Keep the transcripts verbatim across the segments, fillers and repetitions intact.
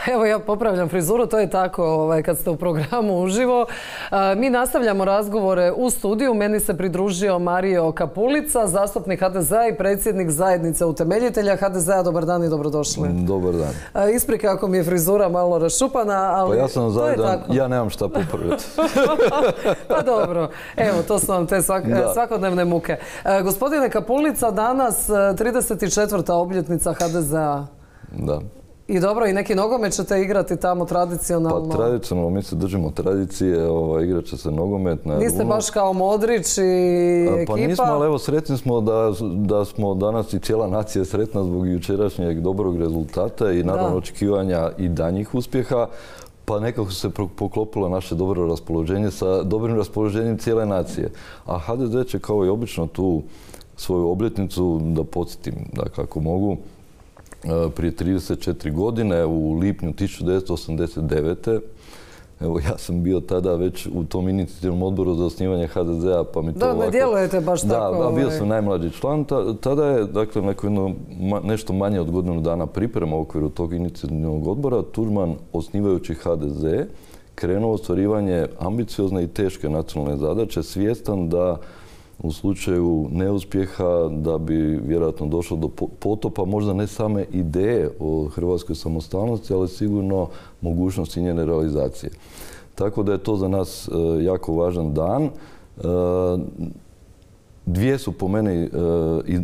Evo, ja popravljam frizuru, to je tako ovaj, kad ste u programu uživo. Mi nastavljamo razgovore u studiju. Meni se pridružio Mario Kapulica, zastupnik ha de zea i predsjednik zajednice utemeljitelja ha de zea. Dobar dan i dobrodošli. Dobar dan. Isprike ako mi je frizura malo rašupana, ali pa ja sam to je zajedan, tako. Ja nemam šta popraviti. Pa dobro, evo, to su vam te svak, svakodnevne muke. Gospodine Kapulica, danas trideset četvrta obljetnica ha de zea. Da. I dobro, i neki nogomet ćete igrati tamo tradicionalno? Pa tradicionalno, mi se držimo tradicije, ovaj, igrat će se nogomet na Niste baš kao Modrić i ekipa? Pa nismo, ali evo sretni smo da, da smo danas i cijela nacija sretna zbog jučerašnjeg dobrog rezultata i naravno očekivanja i danjih uspjeha. Pa nekako se poklopilo naše dobro raspoloženje sa dobrim raspoloženjem cijele nacije. A ha de ze će kao i obično tu svoju obljetnicu, da podsjetim, dakle ako mogu, prije trideset četiri godine, u lipnju tisuću devetsto osamdeset devete. Evo, ja sam bio tada već u tom inicijativnom odboru za osnivanje ha de zea, pa mi to ovako... Da, ne djelujete baš tako. Da, bio sam najmlađi član. Tada je, dakle, nešto manje od godinu dana priprema u okviru tog inicijativnog odbora, Tuđman, osnivajući ha de ze, krenuo ostvarivanje ambiciozne i teške nacionalne zadaće, svjestan da u slučaju neuspjeha da bi vjerojatno došlo do potopa možda ne same ideje o hrvatskoj samostalnosti, ali sigurno mogućnosti njene realizacije. Tako da je to za nas jako važan dan. Dvije su po meni,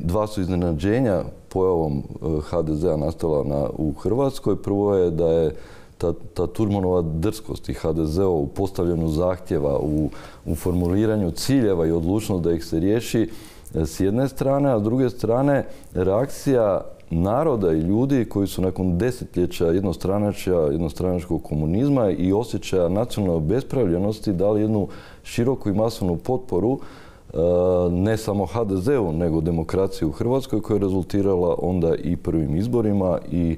dva su iznenađenja pojavom ha de zea nastala u Hrvatskoj. Prvo je da je Ta, ta Tuđmanova drskost i ha de ze u postavljanju zahtjeva, u, u formuliranju ciljeva i odlučnost da ih se riješi s jedne strane, a s druge strane reakcija naroda i ljudi koji su nakon desetljeća jednostranačja, jednostranačkog komunizma i osjećaja nacionalne obespravljenosti dali jednu široku i masovnu potporu ne samo ha de zeu, nego demokraciji u Hrvatskoj koja je rezultirala onda i prvim izborima i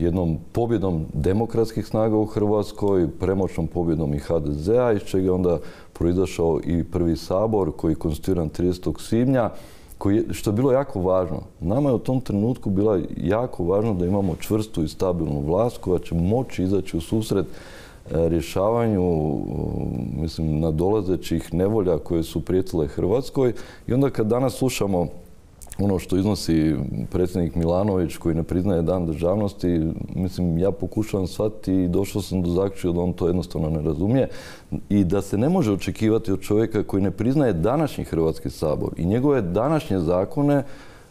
jednom pobjedom demokratskih snaga u Hrvatskoj, premoćnom pobjedom i ha de zea, iz čega je onda proizašao i prvi sabor koji je konstituiran tridesetog svibnja, koji, što je bilo jako važno. Nama je u tom trenutku bilo jako važno da imamo čvrstu i stabilnu vlast koja će moći izaći u susret rješavanju, mislim, nadolazećih nevolja koje su prijetile Hrvatskoj. I onda kad danas slušamo ono što iznosi predsjednik Milanović koji ne priznaje dan državnosti, mislim, ja pokušavam shvatiti i došao sam do zaključka da on to jednostavno ne razumije i da se ne može očekivati od čovjeka koji ne priznaje današnji Hrvatski sabor i njegove današnje zakone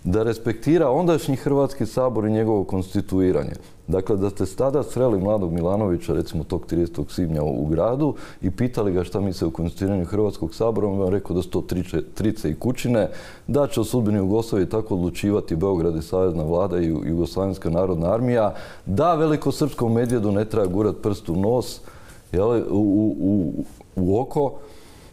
da respektira ondašnji Hrvatski sabor i njegovo konstituiranje. Dakle, da ste tada sreli mladog Milanovića, recimo tog tridesetog svibnja u gradu i pitali ga šta misle o konstituiranju Hrvatskog sabora, on vam rekao da su to trice i kućine, da će o sudbini Jugoslavije tako odlučivati Beograd i Savezna vlada i Jugoslavenska narodna armija, da velikosrpskom medvjedu ne treba gurat prst u nos, jel, u, u, u oko,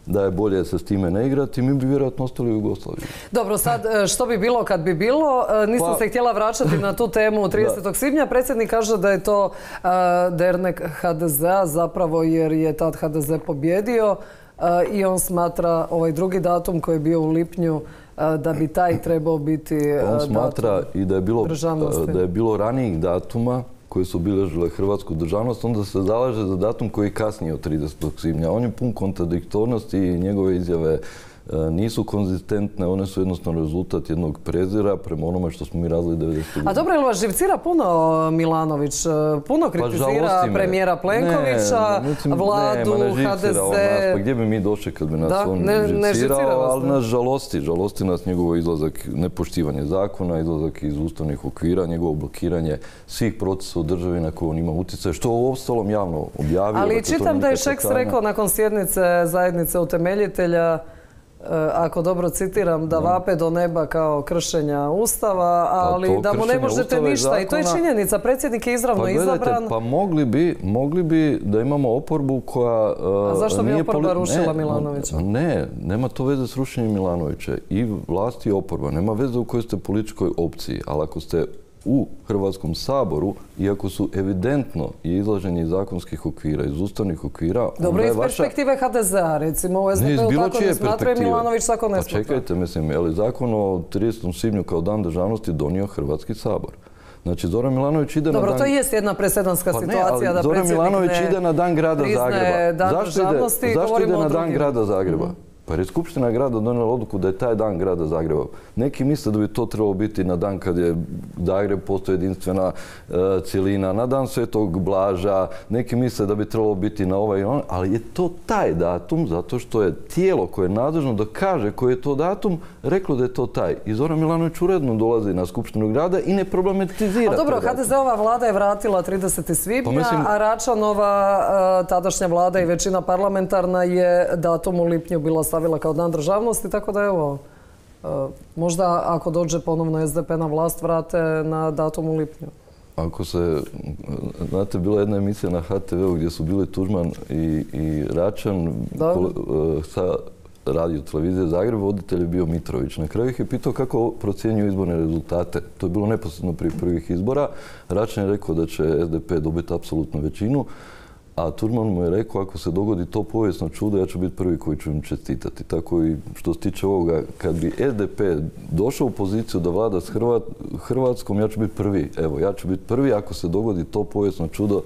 da je bolje se s time ne igrati, mi bi vjerojatno ostali u Jugoslaviji. Dobro, sad što bi bilo kad bi bilo? Nisam pa, se htjela vraćati na tu temu tridesetog svibnja. Predsjednik kaže da je to uh, dernek ha de zea zapravo jer je tad ha de ze pobjedio uh, i on smatra ovaj drugi datum koji je bio u lipnju uh, da bi taj trebao biti uh, on smatra datum i da je bilo, državnosti. Da je bilo ranijih datuma koje su obilježile hrvatsku državnost, onda se zalaže za datum koji je kasnije od tridesetog svibnja. On je pun kontradiktornosti i njegove izjave nisu konzistentne, one su jednostavno rezultat jednog prezira prema onome što smo mi razli devedesetih godina. A dobro, ili vas živcira puno Milanović? Puno kritizira pa premijera Plenkovića, ne, mislim, vladu, ne, ha de ze? Pa gdje bi mi došli kad bi nas da, on ne, živcirao, ne živcira vas, ali nas žalosti. Žalosti nas njegovo izlazak, nepoštivanje zakona, izlazak iz ustavnih okvira, njegovo blokiranje svih procesa u državi na koje on ima utjecaj, što u ostalom javno objavio. Ali čitam da je Šeks rekao nakon sjednice zajednice utemeljitelja, ako dobro citiram, da vape do neba kao kršenja Ustava, ali da mu ne možete ništa. I to je činjenica. Predsjednik je izravno izabran. Pa mogli bi, mogli bi da imamo oporbu koja... A zašto bi oporba rušila Milanovića? Ne, nema to veze s rušenjem Milanovića. I vlast i oporba. Nema veze u kojoj ste političkoj opciji. Ali ako ste u Hrvatskom saboru, iako su evidentno i izlaženje iz zakonskih okvira, iz ustavnih okvira... Dobro, iz perspektive ha de zea, recimo, u es de pe-u tako ne smatraju, Milanović tako ne smatra. Pa čekajte, mislim, je li zakon o tridesetom svibnju kao dan državnosti donio Hrvatski sabor? Znači, Zoran Milanović ide Dobro, na dan... Dobro, to jest jedna presedanska pa situacija ne, da Zoran Milanović ne ide na dan grada Zagreba. Dan zašto ide, zašto ide na dan grada Zagreba? Mm-hmm. Pa jer je Skupština grada donijela odluku da je taj dan grada Zagreba. Neki misle da bi to trebalo biti na dan kad je Zagreb postoji jedinstvena e, cjelina, na dan Svetog Blaža, neki misle da bi trebalo biti na ovaj i on, ali je to taj datum zato što je tijelo koje je nadležno da kaže koji je to datum reklo da je to taj. I Zoran Milanović uredno dolazi na Skupštinu grada i ne problematizira. A dobro, ha de ze-ova vlada je vratila tridesetog svibnja, pa mislim, a Račanova e, tadašnja vlada i većina parlamentarna je datum u lipnju bila stavila kao dan državnosti, tako da evo, možda ako dođe ponovno es de pe na vlast vrate na datum u lipnju. Ako se, znate, bila jedna emisija na ha te veu gdje su bili Tuđman i, i Račan kole, sa radio televizije Zagreb, voditelj je bio Mitrović. Na kraju ih je pitao kako procjenjuju izborne rezultate. To je bilo neposredno prije prvih izbora. Račan je rekao da će es de pe dobiti apsolutnu većinu, a Tuđman mu je rekao, ako se dogodi to povijesno čudo, ja ću biti prvi koji ću im čestitati. Tako i što se tiče ovoga, kad bi es de pe došao u poziciju da vlada s Hrvat, Hrvatskom, ja ću biti prvi. Evo, ja ću biti prvi ako se dogodi to povijesno čudo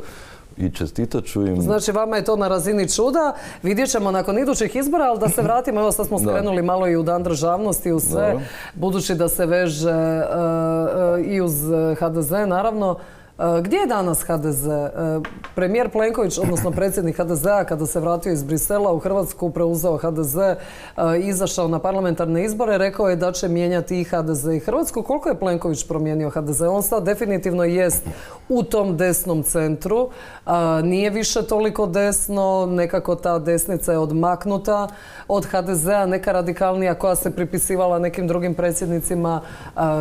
i čestitat ću im. Znači, vama je to na razini čuda. Vidjet ćemo nakon idućih izbora, ali da se vratimo, evo sad smo skrenuli malo i u dan državnosti i u sve, Dobro. budući da se veže uh, uh, i uz ha de ze, naravno. Gdje je danas ha de ze? Premijer Plenković, odnosno predsjednik ha de ze-a, kada se vratio iz Brisela u Hrvatsku, preuzeo ha de ze, izašao na parlamentarne izbore, rekao je da će mijenjati i ha de ze i Hrvatsku. Koliko je Plenković promijenio ha de ze? On sad definitivno jest u tom desnom centru. Nije više toliko desno, nekako ta desnica je odmaknuta od ha de ze-a, neka radikalnija koja se pripisivala nekim drugim predsjednicima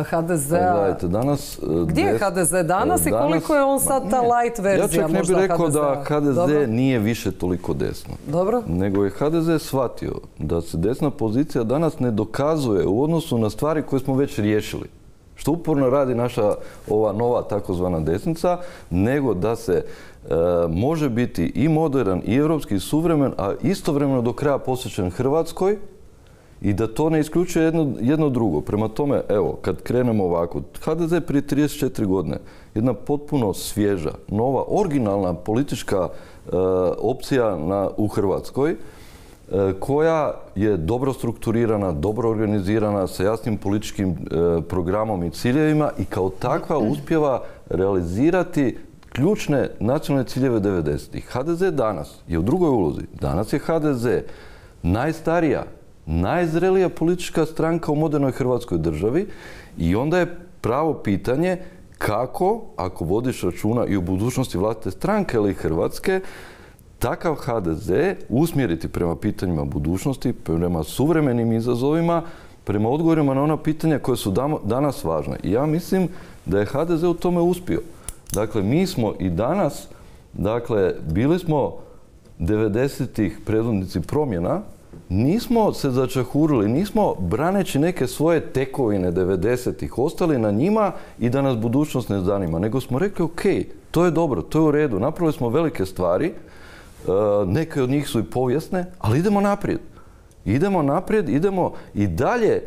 ha de ze-a. Gledajte, danas... Gdje je ha de ze danas i koliko je on sad ta light verzija možda ha de ze-a? Ja čak ne bih rekao da ha de ze Dobro. nije više toliko desno. Dobro. Nego je ha de ze shvatio da se desna pozicija danas ne dokazuje u odnosu na stvari koje smo već riješili. Što uporno radi naša ova nova takozvana desnica, nego da se e, može biti i modern i europski suvremen, a istovremeno do kraja posvećen Hrvatskoj i da to ne isključuje jedno, jedno drugo. Prema tome, evo, kad krenemo ovako, ha de ze prije trideset četiri godine, jedna potpuno svježa, nova, originalna politička e, opcija na, u Hrvatskoj, koja je dobro strukturirana, dobro organizirana, sa jasnim političkim e, programom i ciljevima i kao takva uspjeva realizirati ključne nacionalne ciljeve devedesetih. ha de ze danas je u drugoj ulozi. Danas je ha de ze najstarija, najzrelija politička stranka u modernoj Hrvatskoj državi i onda je pravo pitanje kako, ako vodiš računa i u budućnosti vlastite stranke ili Hrvatske, takav ha de ze usmjeriti prema pitanjima budućnosti, prema suvremenim izazovima, prema odgovorima na ona pitanja koja su danas važna. I ja mislim da je ha de ze u tome uspio. Dakle, mi smo i danas, dakle, bili smo devedesetih predvodnici promjena, nismo se začahurili, nismo braneći neke svoje tekovine devedesetih ostali na njima i da nas budućnost ne zanima, nego smo rekli, ok, to je dobro, to je u redu, napravili smo velike stvari, neke od njih su i povijesne, ali idemo naprijed. Idemo naprijed, idemo i dalje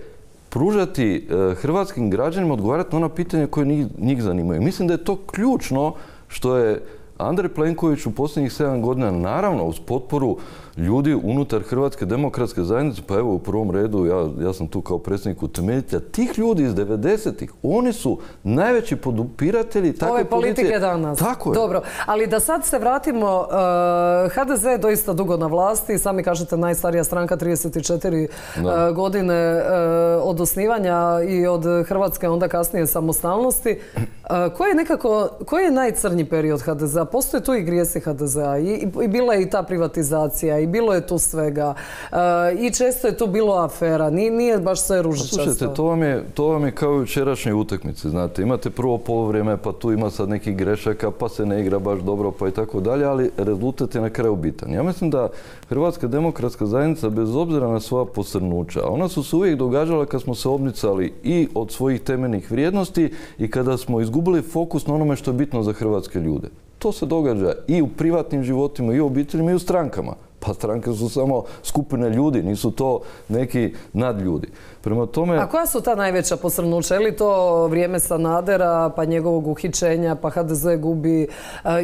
pružati hrvatskim građanima, odgovarati na ona pitanja koje njih, njih zanimaju. Mislim da je to ključno što je Andrej Plenković u posljednjih sedam godina, naravno uz potporu ljudi unutar Hrvatske demokratske zajednice, pa evo u prvom redu, ja, ja sam tu kao predsjednik utemeljitelja, tih ljudi iz devedesetih, oni su najveći podupiratelji takve ove politike pozicije. danas. Tako je. Dobro, ali da sad se vratimo, uh, ha de ze je doista dugo na vlasti, sami kažete najstarija stranka, trideset četiri uh, godine uh, od osnivanja i od Hrvatske, onda kasnije samostalnosti. Uh, koji je nekako, koji je najcrnji period ha de ze-a? Postoje tu i grijesi ha de ze-a i, i, i bila je i ta privatizacija i bilo je tu svega. Uh, I često je tu bilo afera. Nije, nije baš sve ružičasto. Slušajte, to vam je, to vam je kao i u jučerašnjoj utakmici. Znate, imate prvo polovrijeme, pa tu ima sad nekih grešaka, pa se ne igra baš dobro, pa i tako dalje, ali rezultat je na kraju bitan. Ja mislim da Hrvatska demokratska zajednica, bez obzira na svoja posrnuća, ona su se uvijek događala kad smo se odmicali i od svojih temeljnih vrijednosti i kada smo izgubili fokus na onome što je bitno za hrvatske ljude. To se događa i u privatnim životima, i u obiteljima, i u strankama. Pa stranke su samo skupine ljudi, nisu to neki nadljudi. Prema tome... A koja su ta najveća posrnuća? Je li to vrijeme Sanadera, pa njegovog uhićenja, pa ha de ze gubi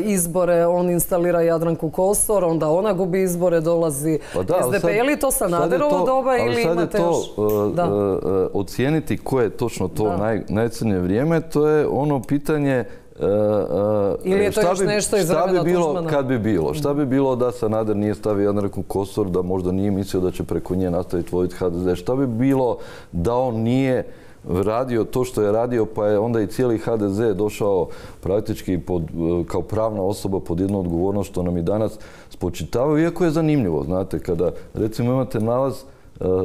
izbore, on instalira Jadranku Kosor, onda ona gubi izbore, dolazi pa da, es de pe. Je li to Sanaderovo doba ili imate još... Ali sad je to uh, uh, ocijeniti koje je točno to naj, najcrnije vrijeme, to je ono pitanje Uh, uh, ili je to još bi, nešto iz vremena bi bilo Tuđmana? Kad bi bilo? Šta bi bilo da Sanader nije stavio Jadranku Kosor, da možda nije mislio da će preko nje nastaviti voditi ha de ze? Šta bi bilo da on nije radio to što je radio, pa je onda i cijeli ha de ze došao praktički pod, kao pravna osoba pod jednu odgovornost, što nam i danas spočitavaju, iako je zanimljivo, znate, kada recimo imate nalaz,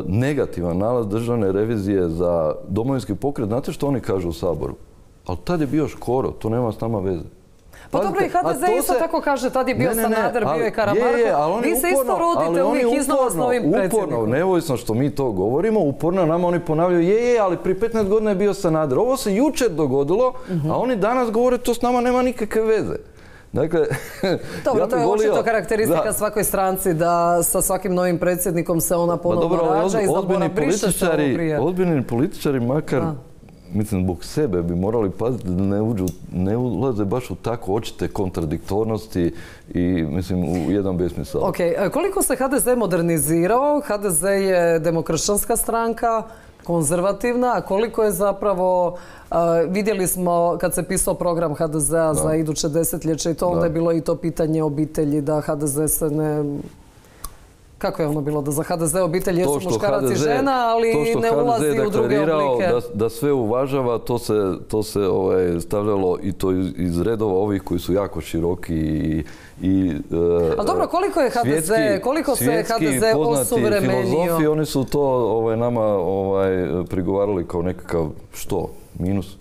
negativan nalaz državne revizije za Domovinski pokret, znate što oni kažu u Saboru? Ali tad je bio Škoro, to nema s nama veze. Pa dobro, i ha de ze isto tako kaže, tad je bio Sanader, bio je Karamarko. Vi se isto rodite uvijek iznova s novim predsjednikom. Uporno, neovisno što mi to govorimo, uporno nama oni ponavljaju, je, je, ali prije petnaest godina je bio Sanader. Ovo se jučer dogodilo, a oni danas govore, to s nama nema nikakve veze. Dakle, dobro, ja to je očito karakteristika svakoj stranci da sa svakim novim predsjednikom se ona ponovno rađa i zaboravlja, briše se ovo prije. Ozbiljni političari makar, mislim, zbog sebe bi morali paziti da ne, uđu, ne ulaze baš u tako očite kontradiktornosti i, mislim, u jedan besmisao. Ok, koliko se ha de ze modernizirao? ha de ze je demokršćanska stranka, konzervativna, a koliko je zapravo, uh, vidjeli smo kad se pisao program ha de zea za iduće desetljeće i to, onda je bilo i to pitanje obitelji, da ha de ze se ne... Kako je ono bilo? Da za ha de ze obitelj jesu muškarac i žena, ali ne ulazi u druge oblike. Da, da sve uvažava, to se, to se ovaj, stavljalo i to iz, iz redova ovih koji su jako široki i... i uh, ali dobro, koliko je ha de ze, koliko se ha de ze osuvremenio? Filozofi, oni su to ovaj, nama ovaj, prigovarali kao nekakav što? Minus?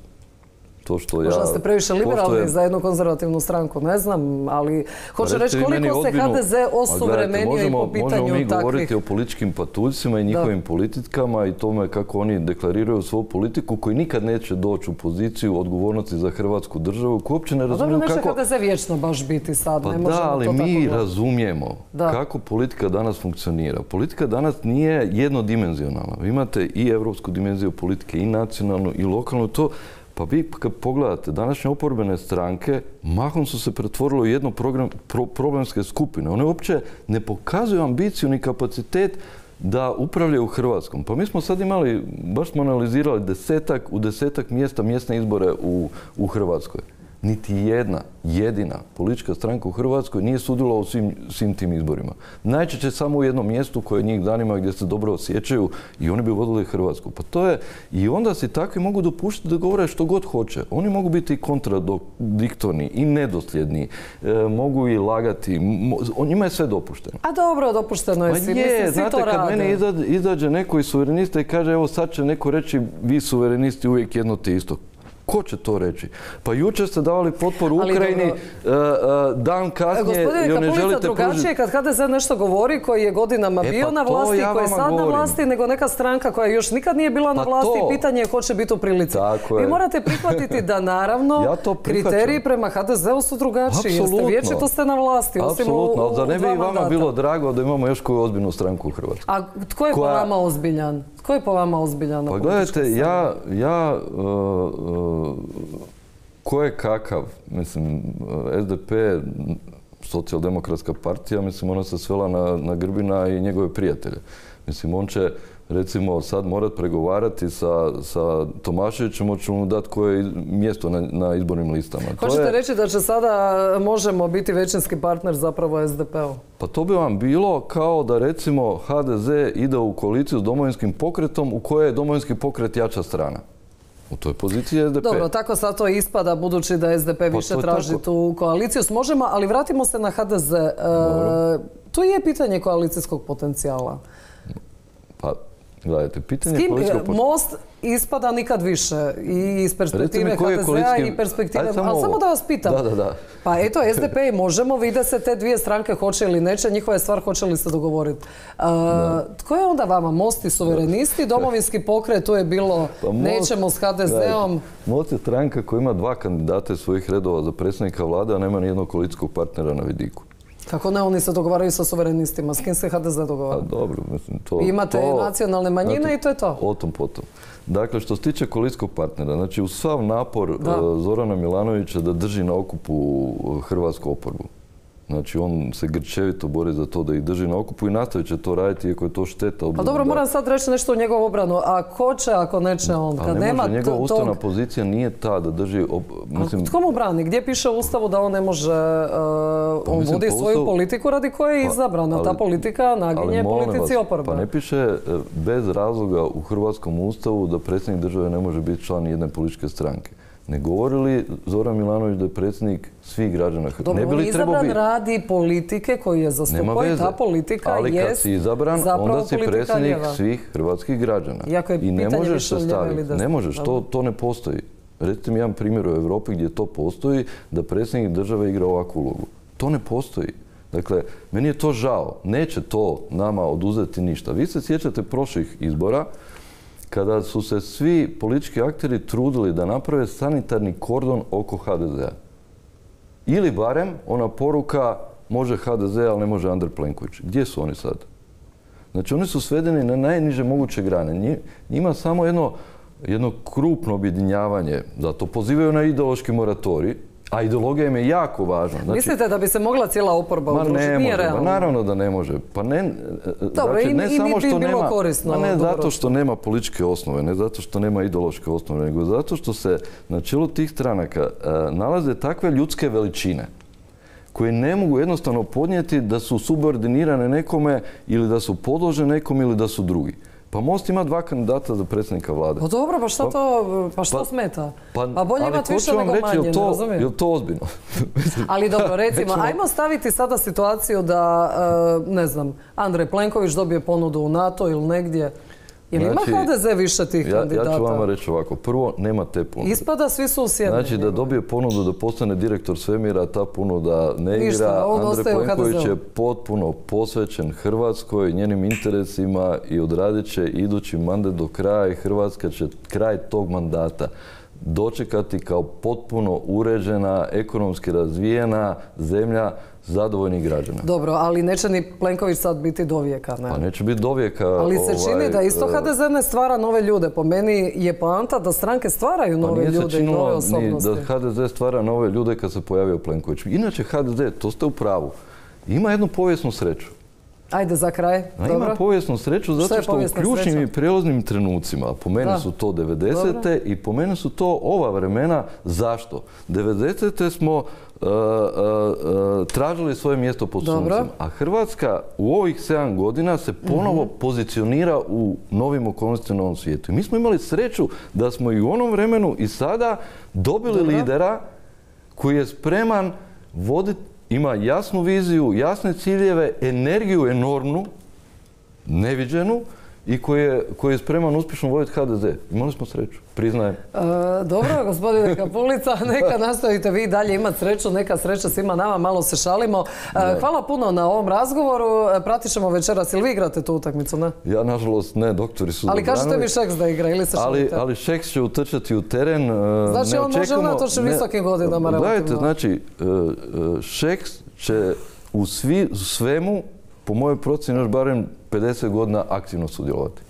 To što ja... Možda ste previše liberalni je... za jednu konzervativnu stranku, ne znam, ali hoću reći koliko se ha de ze osuvremenio i po pitanju takvih... Možemo mi govoriti o političkim patuljcima i njihovim da. politikama i tome kako oni deklariraju svoju politiku, koji nikad neće doći u poziciju odgovornosti za Hrvatsku državu, koji uopće ne razumiju kako... Dobro, neće ha de ze vječno baš biti sad, pa ne možemo da, ali to mi tako razumijemo da. kako politika danas funkcionira. Politika danas nije jednodimenzionalna. Vi imate i evropsku dimenziju politike, i nacionalnu, i lokalnu, to... Pa vi kad pogledate, današnje oporbene stranke mahom su se pretvorile u jedno program, pro, problemske skupine. One uopće ne pokazuju ambiciju ni kapacitet da upravljaju Hrvatskom. Pa mi smo sad imali, baš smo analizirali desetak, u desetak mjesta mjesne izbore u, u Hrvatskoj. Niti jedna, jedina politička stranka u Hrvatskoj nije sudjelovala u svim, svim tim izborima. Najčešće samo u jednom mjestu koje njih zanima, gdje se dobro osjećaju i oni bi vodili Hrvatsku. Pa to je, i onda si takvi mogu dopuštiti da govore što god hoće. Oni mogu biti i kontradiktorni i nedosljedni, e, mogu i lagati, mo, njima je sve dopušteno. A dobro, dopušteno je pa svi, je, mislim, svi znate, to kad rade. meni izađe, izađe neko iz suverenista i kaže, evo sad će neko reći, vi suverenisti uvijek jedno te isto. Ko će to reći? Pa jučer ste davali potporu Ukrajini, dan kasnije i ne želite pružiti... drugačije kad ha de ze nešto govori, koji je godinama bio na vlasti, koji je sad na vlasti, nego neka stranka koja još nikad nije bila na vlasti i pitanje je ko će biti u prilici. Vi morate prihvatiti da naravno kriteriji prema ha de zeu su drugačiji. Jer ste vječito ste na vlasti. Apsolutno, ali da ne bi i vama bilo drago da imamo još koju ozbiljnu stranku u Hrvatskoj. A tko je po vama ozbiljan? Tko je po vama ozbiljan na pa gledajte, ja, ja uh, uh, ko je kakav, mislim, es de pe, socijaldemokratska partija, mislim, ona se svela na, na Grbina i njegove prijatelje. Mislim, on će, recimo, sad morat pregovarati sa, sa Tomaševićem, hoće mu dati koje mjesto na, na izbornim listama. Hoćete je... reći da će sada možemo biti većinski partner zapravo es de pe-u? Pa to bi vam bilo kao da, recimo, ha de ze ide u koaliciju s Domovinskim pokretom u kojoj je Domovinski pokret jača strana. U toj poziciji es de pe. Dobro, tako sad to ispada, budući da es de pe više traži tako. tu koaliciju s Možemo, ali vratimo se na ha de ze. E, tu je pitanje koalicijskog potencijala. Pa, gledajte, pitanje s kim koalicijskog potencijala... Most ispada nikad više i iz perspektive ha de zea koalicijski... i perspektive... Samo ali samo da vas pitam. Da, da, da. Pa eto, es de pe i Možemo, vide se te dvije stranke hoće ili neće, njihova je stvar hoće li se dogovoriti. Uh, tko je onda vama? Most i suverenisti, Domovinski pokret, tu je bilo pa most, nećemo s ha de zeom. Most je stranka koja ima dva kandidata iz svojih redova za predsjednika vlade, a nema nijednog koalicijskog partnera na vidiku. Kako ne, oni se dogovaraju sa suverenistima. S kim se ha de ze dogovara? A dobro, mislim, to... Vi imate to, nacionalne manjine znate, i to je to. O tom potom. Dakle, što se tiče koalicijskog partnera, znači uz sav napor uh, Zorana Milanovića da drži na okupu hrvatsku oporbu. Znači, on se grčevito bori za to da ih drži na okupu i nastavit će to raditi, iako je to šteta. Pa dobro, moram sad reći nešto u njegovu obranu. A ko će, ako neće on? Kad ne nema može, njegova tog... ustavna pozicija nije ta da drži... Op... Mislim... Tko mu brani? Gdje piše u Ustavu da on ne može... Uh, on mislim, vodi svoju ustavu... politiku radi koje je izabrana. Ta politika naginje politici oporbe. Pa ne piše bez razloga u hrvatskom Ustavu da predsjednik države ne može biti član jedne političke stranke. Ne govori li Zoran Milanović da je predsjednik svih građana Hrvatske? Dobro, on je izabran radi politike koju je zastupao i ta politika ali jest kad si izabran, onda si predsjednik svih hrvatskih građana. I ne možeš se staviti. Ne možeš, to, to ne postoji. Recite mi jedan primjer u Europi gdje to postoji, da predsjednik države igra ovakvu ulogu. To ne postoji. Dakle, meni je to žao. Neće to nama oduzeti ništa. Vi se sjećate prošlih izbora, kada su se svi politički akteri trudili da naprave sanitarni kordon oko ha de zea. Ili barem ona poruka može ha de ze, ali ne može Andrej Plenković. Gdje su oni sad? Znači, oni su svedeni na najniže moguće grane. Njima samo jedno, jedno krupno objedinjavanje, zato pozivaju na ideološki moratorij, a ideologija im je jako važna. Znači, mislite da bi se mogla cijela oporba udružiti? Ne Nije može, realno. Naravno da ne može. Pa ne, dobro, znači, ne i, samo što bi bilo nema, korisno. Ma ne zato što nema političke osnove, ne zato što nema ideološke osnove, nego zato što se na čelu tih stranaka uh, nalaze takve ljudske veličine koje ne mogu jednostavno podnijeti da su subordinirane nekome ili da su podložene nekom ili da su drugi. Pa Most ima dva kandidata za predsjednika vlade. Pa dobro, pa šta to, pa što pa, smeta? Pa, pa bolje imati više nego reći, manje, to, ne razumijem? Je li to ozbiljno? Ali dobro, recimo, Nećemo... ajmo staviti sada situaciju da, ne znam, Andrej Plenković dobije ponudu u NATO ili negdje. Ili znači, ima ha de ze više tih ja, kandidata? Ja ću vama reći ovako. Prvo, nema te ponude. Ispada svi su usjedni. Znači da dobije ponudu da postane direktor svemira, ta ponuda ne igra. Ništa, Andrej Plenković je potpuno posvećen Hrvatskoj, njenim interesima i odradit će idući mandat do kraja i Hrvatska će kraj tog mandata dočekati kao potpuno uređena, ekonomski razvijena zemlja zadovoljnih građana. Dobro, ali neće ni Plenković sad biti dovijeka, ne? Pa neće biti dovijeka. Ali se čini ovaj, da isto ha de ze ne stvara nove ljude. Po meni je poanta da stranke stvaraju nove pa ljude i nove osobnosti. Da ha de ze stvara nove ljude kad se pojavio Plenković. Inače ha de ze, to ste u pravu, ima jednu povijesnu sreću. Ajde za kraj. A ima povijesnu sreću zato što u ključnim i prijelaznim trenucima, po meni su to devedesete i po meni su to ova vremena. Zašto? devedesete smo uh, uh, uh, tražili svoje mjesto pod suncem, a Hrvatska u ovih sedam godina se ponovo mm-hmm. pozicionira u novim okolnostima na ovom svijetu. I mi smo imali sreću da smo i u onom vremenu i sada dobili Dobro. lidera koji je spreman voditi, ima jasnu viziju, jasne ciljeve, energiju enormnu, neviđenu i koji je, koji je spreman uspješno voditi ha de ze. Imali smo sreću, priznajem. E, dobro, gospodine Kapulica, neka nastavite vi dalje imati sreću, neka sreća svima nama, malo se šalimo. E, hvala puno na ovom razgovoru, pratit ćemo večeras. Ili vi igrate tu utakmicu, ne? Ja, nažalost, ne, doktori su Ali kažete mi Šeks da igra ili se šalite? Ali, ali Šeks će utrčati u teren. Znači ne on očekamo, može unatoč visokim godinama relativno. Gledajte, znači, Šeks će u, svi, u svemu, po mojoj procjeni, još barem pedeset godina aktivno sudjelovati.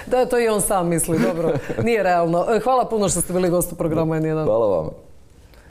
Da, to i on sam misli, dobro. Nije realno. Hvala puno što ste bili gost u programu N jedan. Hvala vama.